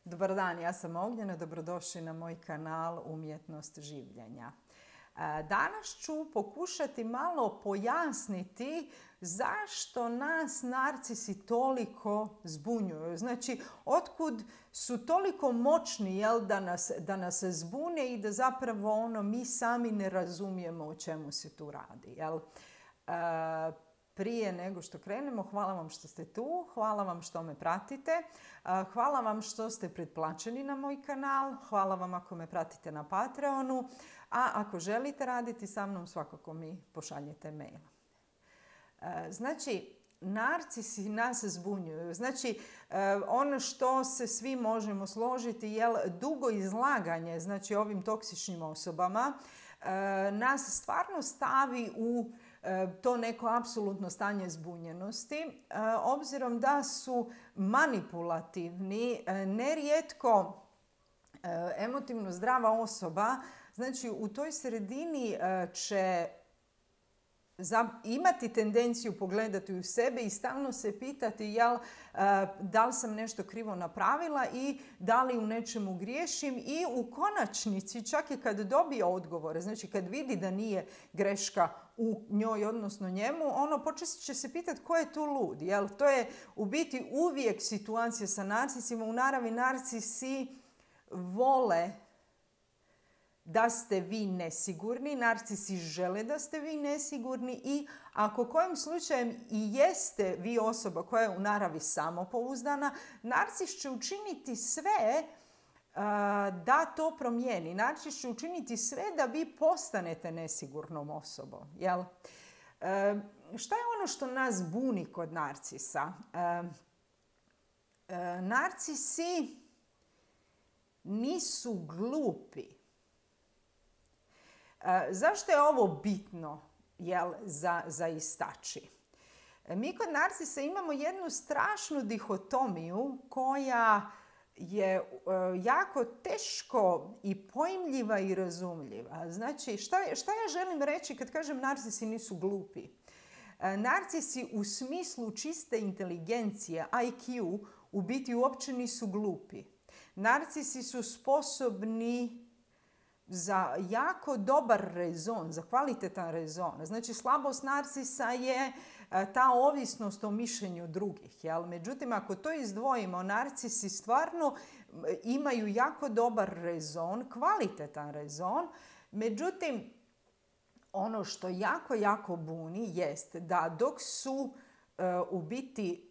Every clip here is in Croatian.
Dobar dan, ja sam Ognjena, dobrodošli na moj kanal Umjetnost življenja. Danas ću pokušati malo pojasniti zašto nas narcisi toliko zbunjuju. Znači, otkud su toliko moćni da nas zbune i da zapravo mi sami ne razumijemo o čemu se tu radi. Prije nego što krenemo, hvala vam što ste tu, hvala vam što me pratite, hvala vam što ste pretplaćeni na moj kanal, hvala vam ako me pratite na Patreonu, a ako želite raditi sa mnom, svakako mi pošaljite mail. Znači, narcisi nas zbunjuju. Znači, ono što se svi možemo složiti je dugo izlaganje, znači ovim toksičnim osobama, nas stvarno stavi u to neko apsolutno stanje zbunjenosti, obzirom da su manipulativni, nerijetko emotivno zdrava osoba, znači u toj sredini će imati tendenciju pogledati u sebe i stalno se pitati da li sam nešto krivo napravila i da li u nečemu griješim, i u konačnici čak i kad dobije odgovore, znači kad vidi da nije greška u njoj odnosno njemu, počet će se pitati ko je tu lud. To je u biti uvijek situacija sa narcisima. U naravi narcisi vole da ste vi nesigurni, narcisi žele da ste vi nesigurni, i ako kojim slučajem i jeste vi osoba koja je u naravi samopouzdana, narcis će učiniti sve da to promijeni. Narcis će učiniti sve da vi postanete nesigurnom osobom. Šta je ono što nas buni kod narcisa? Narcisi nisu glupi. Zašto je ovo bitno za istaći? Mi kod narcisa imamo jednu strašnu dihotomiju koja je jako teško i pojmljiva i razumljiva. Znači, šta ja želim reći kad kažem narcisi nisu glupi? Narcisi u smislu čiste inteligencije, IQ, u biti uopće nisu glupi. Narcisi su sposobni za jako dobar rezon, za kvalitetan rezon. Znači, slabost narcisa je ta ovisnost o mišljenju drugih. Međutim, ako to izdvojimo, narcisi stvarno imaju jako dobar rezon, kvalitetan rezon. Međutim, ono što jako buni jest da dok su u biti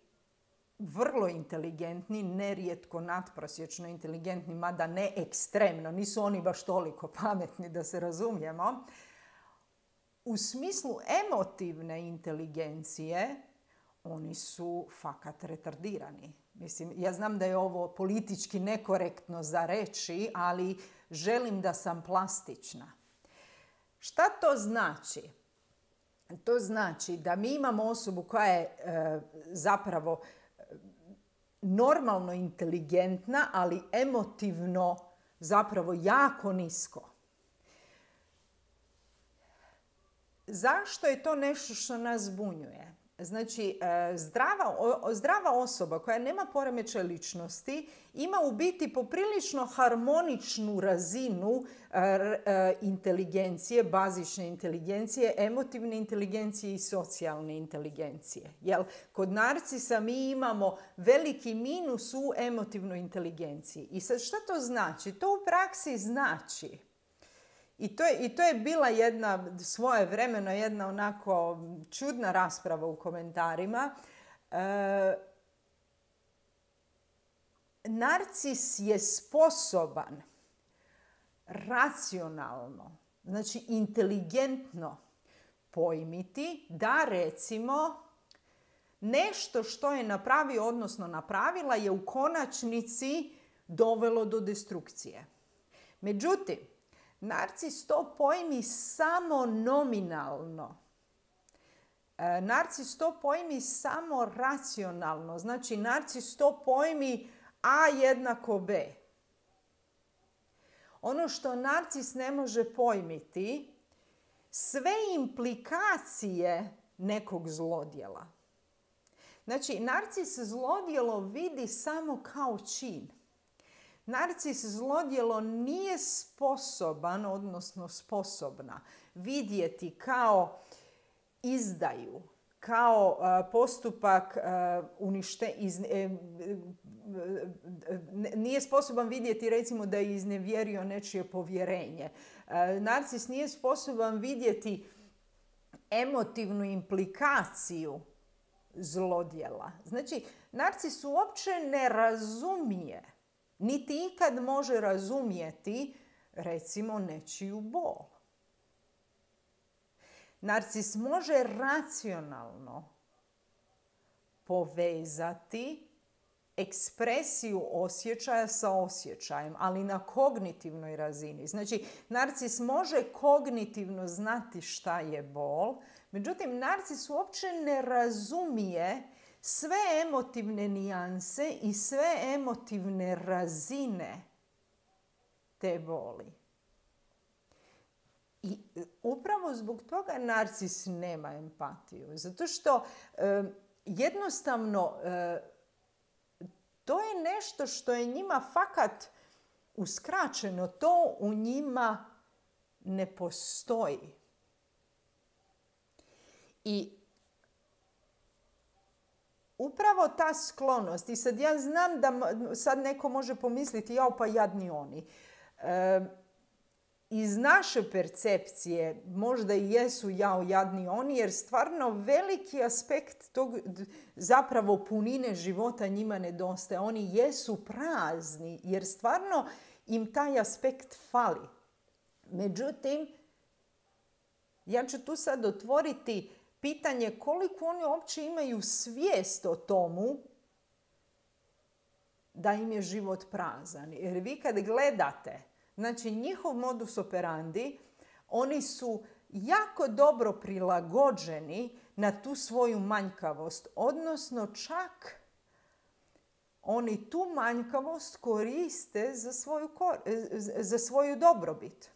vrlo inteligentni, nerijetko nadprosječno inteligentni, mada ne ekstremno, nisu oni baš toliko pametni da se razumijemo, u smislu emotivne inteligencije oni su fakat retardirani. Mislim, ja znam da je ovo politički nekorektno za reći, ali želim da sam plastična. Šta to znači? To znači da mi imamo osobu koja je zapravo normalno inteligentna, ali emotivno zapravo jako nisko. Zašto je to nešto što nas zbunjuje? Znači, zdrava osoba koja nema poremećaj ličnosti ima u biti poprilično harmoničnu razinu inteligencije, bazične inteligencije, emotivne inteligencije i socijalne inteligencije. Kod narcisa mi imamo veliki minus u emotivnoj inteligenciji. I sad šta to znači? To u praksi znači, I to je bila svojevremeno jedna onako čudna rasprava u komentarima. Narcis je sposoban racionalno, znači inteligentno pojmiti da, recimo, nešto što je napravio, odnosno napravila, je u konačnici dovelo do destrukcije. Međutim, narcis to pojmi samo nominalno. Narcis to pojmi samo racionalno. Znači, narcis to pojmi A jednako B. Ono što narcis ne može pojmiti, sve implikacije nekog zlodjela. Znači, narcis zlodjelo vidi samo kao čin. Narcis zlodjelo nije sposoban, odnosno sposobna, vidjeti kao izdaju, kao postupak nije sposoban vidjeti recimo da je iznevjerio nečije povjerenje. Narcis nije sposoban vidjeti emotivnu implikaciju zlodjela. Znači, narcis uopće ne razumije, niti ikad može razumjeti, recimo, nečiju bol. Narcis može racionalno povezati ekspresiju osjećaja sa osjećajem, ali na kognitivnoj razini. Znači, narcis može kognitivno znati šta je bol, međutim, narcis uopće ne razumije sve emotivne nijanse i sve emotivne razine te boli. I upravo zbog toga narcis nema empatiju. Zato što jednostavno to je nešto što je njima fakat uskraćeno. To u njima ne postoji. I upravo ta sklonost, i sad ja znam da sad neko može pomisliti, jao pa jadni oni. Iz naše percepcije možda i jesu jao jadni oni, jer stvarno veliki aspekt tog zapravo punine života njima nedostaje. Oni jesu prazni jer stvarno im taj aspekt fali. Međutim, ja ću tu sad otvoriti pitanje koliko oni uopće imaju svijest o tomu da im je život prazan. Jer vi kad gledate, znači njihov modus operandi, oni su jako dobro prilagođeni na tu svoju manjkavost, odnosno čak oni tu manjkavost koriste za svoju dobrobit.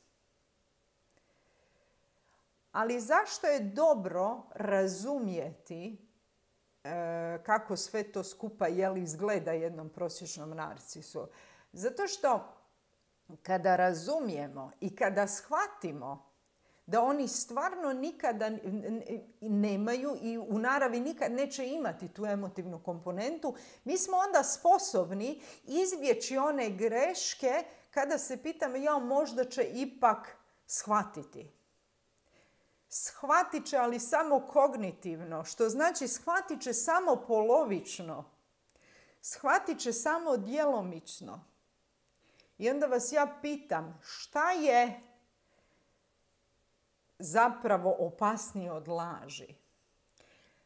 Ali zašto je dobro razumjeti kako sve to skupa izgleda jednom prosječnom narcisu? Zato što kada razumijemo i kada shvatimo da oni stvarno nikada nemaju i u naravi nikad neće imati tu emotivnu komponentu, mi smo onda sposobni izbjeći one greške kada se pitamo možda će ipak shvatiti. Shvatit će, ali samo kognitivno, što znači shvatit će samo polovično. Shvatit će samo djelomično. I onda vas ja pitam, šta je zapravo opasnije od laži?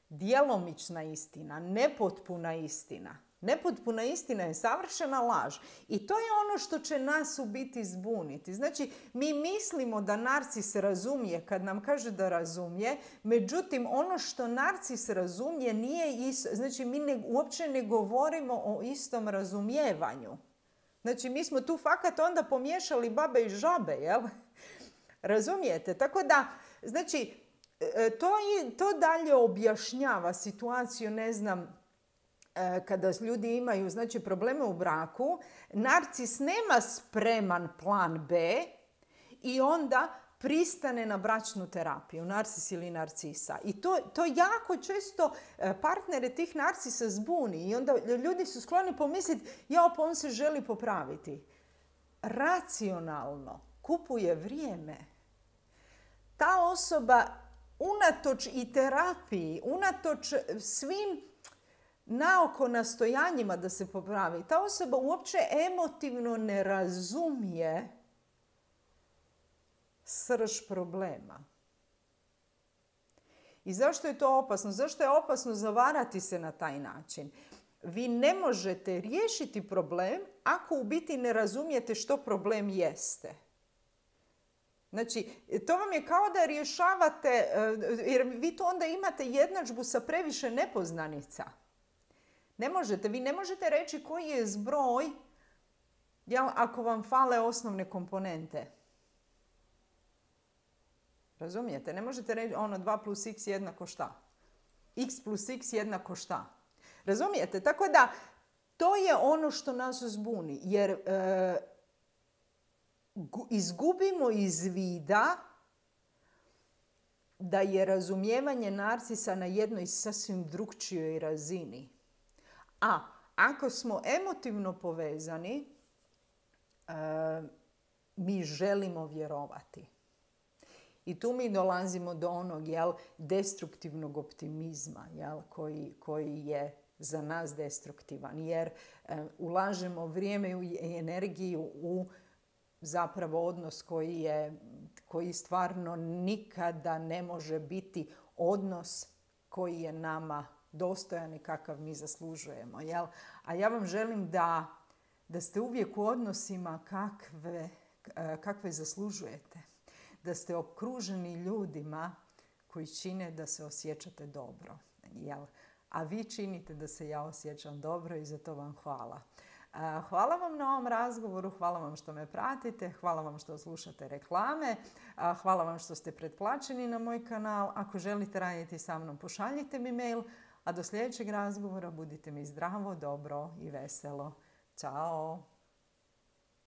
Djelomična istina, nepotpuna istina. Nepotpuna istina je savršena laž. I to je ono što će nas u biti zbuniti. Znači, mi mislimo da narcis razumije kad nam kaže da razumije, međutim, ono što narcis razumije nije isto. Znači, mi uopće ne govorimo o istom razumijevanju. Znači, mi smo tu fakat onda pomiješali babe i žabe, jel? Razumijete? Tako da, znači, to dalje objašnjava situaciju, ne znam, kada ljudi imaju probleme u braku, narcis nema spreman plan B i onda pristane na bračnu terapiju, narcis ili narcisa. I to jako često partnere tih narcisa zbuni i onda ljudi su skloni pomisliti, pa on se želi popraviti. Racionalno kupuje vrijeme. Ta osoba unatoč i terapiji, unatoč svim naoko nastojanjima da se popravi, ta osoba uopće emotivno ne razumije srž problema. I zašto je to opasno? Zašto je opasno zavarati se na taj način? Vi ne možete riješiti problem ako u biti ne razumijete što problem jeste. Znači, to vam je kao da rješavate, jer vi to onda imate jednadžbu sa previše nepoznanica. Vi ne možete reći koji je zbroj ako vam fale osnovne komponente. Razumijete? Ne možete reći 2 plus x jednako šta? X plus x jednako šta? Razumijete? Tako da to je ono što nas zbuni, jer izgubimo iz vida da je razumijevanje narcisa na jednoj sasvim drukčijoj razini. A ako smo emotivno povezani, mi želimo vjerovati. I tu mi dolazimo do onog destruktivnog optimizma koji je za nas destruktivan. Jer ulažemo vrijeme i energiju u zapravo odnos koji stvarno nikada ne može biti odnos koji je nama dostojan i kakav mi zaslužujemo. A ja vam želim da ste uvijek u odnosima kakve zaslužujete. Da ste okruženi ljudima koji čine da se osjećate dobro. A vi činite da se ja osjećam dobro i za to vam hvala. Hvala vam na ovom razgovoru, hvala vam što me pratite, hvala vam što slušate reklame, hvala vam što ste pretplaćeni na moj kanal. Ako želite raditi sa mnom, pošaljite mi mail, a do sljedećeg razgovora budite mi zdravo, dobro i veselo. Ćao!